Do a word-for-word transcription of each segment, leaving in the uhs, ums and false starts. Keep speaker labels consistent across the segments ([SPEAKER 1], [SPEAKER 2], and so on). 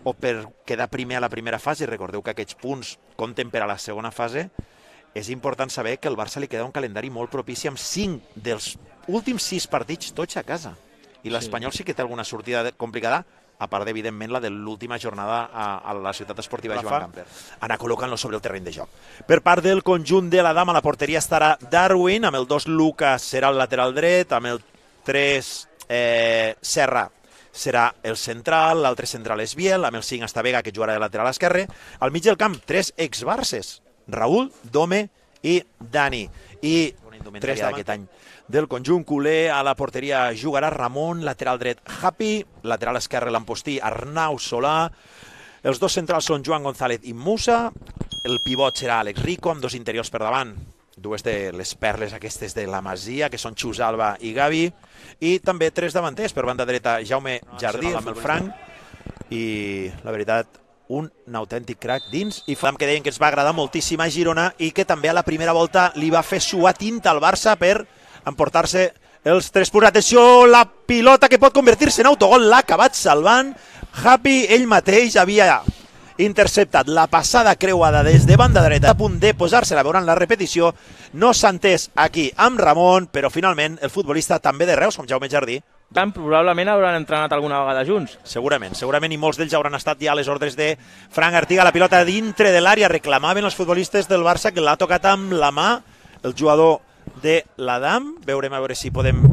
[SPEAKER 1] o per quedar primer a la primera fase, recordeu que aquests punts compten per a la segona fase, és important saber que al Barça li queda un calendari molt propici amb cinc dels últims sis partits tots a casa. I l'Espanyol sí que té alguna sortida complicada, a part d'evidentment la de l'última jornada a, a la ciutat esportiva Joan Gamper. Anar col·locant-lo sobre el terreny de joc. Per part del conjunt de la dama, la porteria estarà Darwin, amb el dos Lucas serà el lateral dret, amb el tres eh, Serra serà el central, l'altre central és Biel, amb el cinc està Vega, que jugarà de lateral esquerre. Al mig del camp, tres ex-Barces, Raúl, Dome i Dani. I tres d'aquest any del conjunt culer. A la porteria jugarà Ramon, lateral dret Happy, lateral esquerre l'Ampostí, Arnau Solà. Els dos centrals són Joan González i Musa. El pivot serà Àlex Rico, amb dos interiors per davant, dues de les perles aquestes de la Masia, que són Xus Alba i Gavi. I també tres davanters, per banda dreta Jaume Jardí, amb el Frank. I la veritat, un autèntic crack dins, i Fam que deien que ens va agradar moltíssim a Girona i que també a la primera volta li va fer suar tinta al Barça per emportar-se els tres punts. Atenció, la pilota que pot convertir-se en autogol, l'ha acabat salvant Happy, ell mateix havia interceptat la passada creuada des de banda dreta, a punt de posar-se-la, veuran la repetició, no s'ha entès aquí amb Ramon, però finalment el futbolista també de Reus, com Jaume Jardí,
[SPEAKER 2] Tant, probablement hauran entrenat alguna vegada junts.
[SPEAKER 1] Segurament, segurament, i molts d'ells hauran estat ja a les ordres de Frank Artiga. La pilota dintre de l'àrea, reclamaven els futbolistes del Barça que l'ha tocat amb la mà el jugador de l'Adam. Veurem a veure si podem...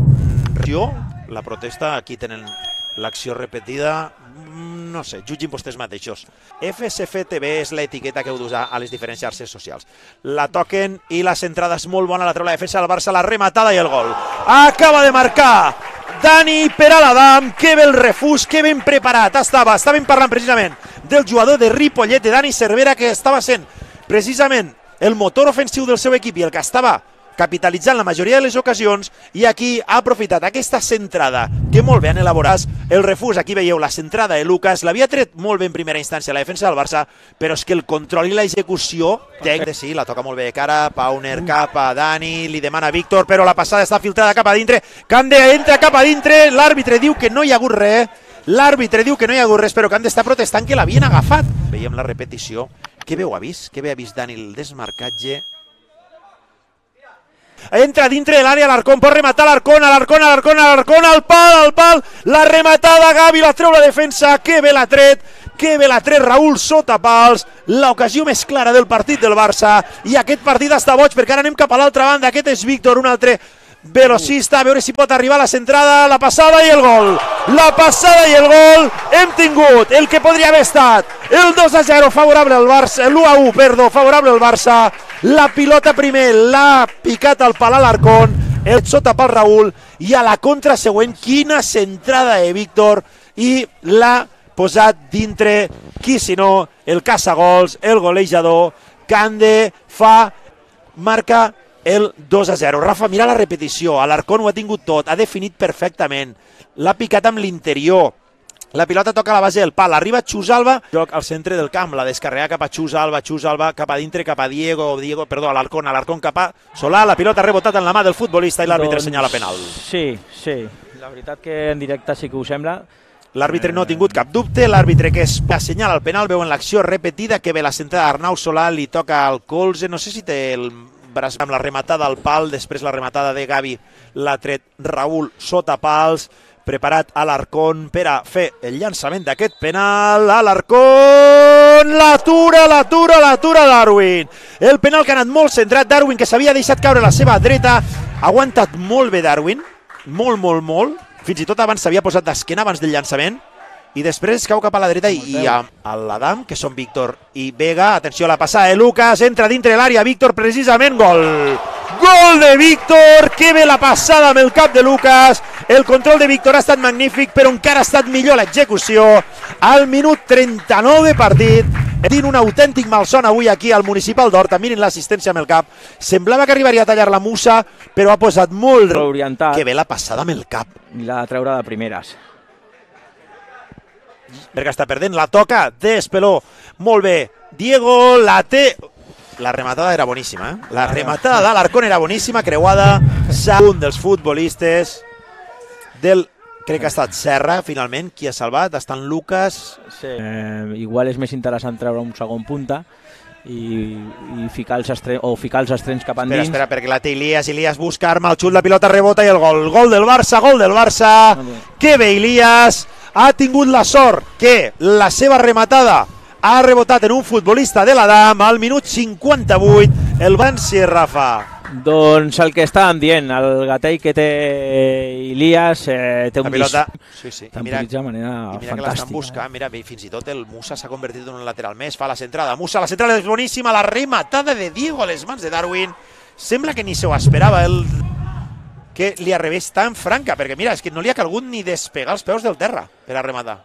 [SPEAKER 1] La protesta, aquí tenen l'acció repetida, no sé, jutgin vostès mateixos. F S F T V és l'etiqueta que heu d'usar a les diferents xarxes socials. La toquen i la centrada és molt bona, la treu la defensa del Barça, la rematada i el gol. Acaba de marcar Dani per a l'Adam, que bé el refús, que ben preparat estava. Estàvem parlant precisament del jugador de Ripollet, de Dani Cervera, que estava sent precisament el motor ofensiu del seu equip i el que estava capitalitzant la majoria de les ocasions, i aquí ha aprofitat aquesta centrada que molt bé han elaborat el refús. Aquí veieu la centrada de Lucas, l'havia tret molt bé en primera instància la defensa del Barça, però és que el control i l'execució de sí, la toca molt bé de cara, Pauner cap a Dani, li demana Víctor, però la passada està filtrada cap a dintre, Cande entra cap a dintre, l'àrbitre diu que no hi ha hagut res, l'àrbitre diu que no hi ha hagut res, però Cande està protestant que l'havien agafat. Veiem la repetició, que bé ho ha vist, que bé ha vist Dani el desmarcatge. Entra dintre de l'àrea l'Arcón, pot rematar l'Arcón, a l'Arcón, a l'Arcón, a l'Arcón, al pal, al pal, la rematada, Gavi la treu la defensa, que bé l'ha tret, que bé l'ha tret Raúl sota pals, l'ocasió més clara del partit del Barça, i aquest partit està boig perquè ara anem cap a l'altra banda. Aquest és Víctor, un altre velocista, a veure si pot arribar la centrada, la passada i el gol, la passada i el gol. Hem tingut el que podria haver estat el dos a zero favorable al Barça, l'u a u, perdó, favorable al Barça. La pilota primer l'ha picat al pal a l'Arcón, el sota pel Raúl, i a la contra següent, quina centrada de Víctor, i l'ha posat dintre, qui si no, el caçagols, el golejador, Cande, fa, marca el dos a zero. Rafa, mira la repetició, l'Arcón ho ha tingut tot, ha definit perfectament, l'ha picat amb l'interior, la pilota toca a la base del pal, arriba Xus Alba, joc al centre del camp, la descarrega cap a Xus Alba, Xus Alba cap a dintre, cap a Diego, Diego, perdó, a l'Arcón, a l'Arcón cap a Solà, la pilota ha rebotat en la mà del futbolista i l'àrbitre doncs assenyala penal.
[SPEAKER 2] Sí, sí, la veritat que en directe sí que ho sembla.
[SPEAKER 1] L'àrbitre no ha tingut cap dubte, l'àrbitre que es assenyala el penal, veu en l'acció repetida que ve la centrada d'Arnau Solà, li toca al colze, no sé si té el braç amb la rematada al pal, després la rematada de Gavi l'ha tret Raúl sota pals, preparat a l'Arcón per a fer el llançament d'aquest penal. A l'Arcón, l'atura, l'atura, l'atura Darwin. El penal que ha anat molt centrat, Darwin que s'havia deixat caure la seva dreta, ha aguantat molt bé Darwin, molt, molt, molt, fins i tot abans s'havia posat d'esquena abans del llançament, i després cau cap a la dreta i a l'Adam, que són Víctor i Vega. Atenció a la passada de Lucas, entra dintre de l'àrea, Víctor precisament, gol! Gol de Víctor, que bé la passada amb el cap de Lucas, el control de Víctor ha estat magnífic, però encara ha estat millor l'execució. Al minut trenta-nou de partit, dint un autèntic malson avui aquí al Municipal d'Horta, mirin l'assistència amb el cap, semblava que arribaria a tallar la Musa, però ha posat molt
[SPEAKER 2] orientat.
[SPEAKER 1] Que bé la passada amb el cap.
[SPEAKER 2] I la de treure de primeres.
[SPEAKER 1] Perquè està perdent, la toca d'Espeló, molt bé, Diego la té... La rematada era boníssima, eh? La rematada de l'Arcón era boníssima, creuada, un dels futbolistes del Crec que ha estat Serra, finalment, qui ha salvat. Estan Lucas...
[SPEAKER 2] Sí. Eh, igual és més interessant treure un segon punta i, i ficar, els estre... o ficar els estrenys cap endins.
[SPEAKER 1] Espera, espera, perquè la té Ilias. Ilias busca arma, el xut, la pilota rebota i el gol. Gol del Barça, gol del Barça. Que bé, Ilias. Ha tingut la sort que la seva rematada ha rebotat en un futbolista de l'Adam al minut cinquanta-vuit. El Bansi, Rafa.
[SPEAKER 2] Doncs el que estàvem dient, el gatell que té Ilias eh, té un
[SPEAKER 1] pilota, sí, sí.
[SPEAKER 2] temporitza de manera
[SPEAKER 1] i mira
[SPEAKER 2] fantàstica.
[SPEAKER 1] Que l'estan buscant, mira, fins i tot el Musa s'ha convertit en un lateral més, fa la centrada, Musa, la centrada és boníssima, la rematada de Diego a les mans de Darwin, sembla que ni se ho esperava, el que li arribés tan franca, perquè mira, és que no li ha calgut ni despegar els peus del terra per a rematar.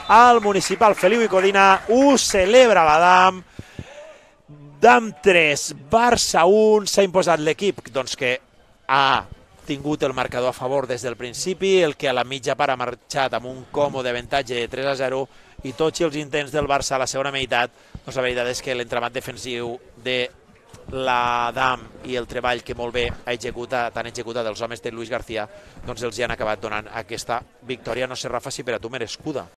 [SPEAKER 1] Al municipal Feliu i Codina ho celebra l'Adam, Dam tres, Barça un, s'ha imposat l'equip doncs que ha tingut el marcador a favor des del principi, el que a la mitja part ha marxat amb un còmode avantatge de tres a zero i tots els intents del Barça a la segona meitat, doncs la veritat és que l'entramat defensiu de l'Adam i el treball que molt bé ha executat, han executat els homes de Luis García, doncs els hi han acabat donant aquesta victòria. No sé, Rafa, si per a tu merescuda.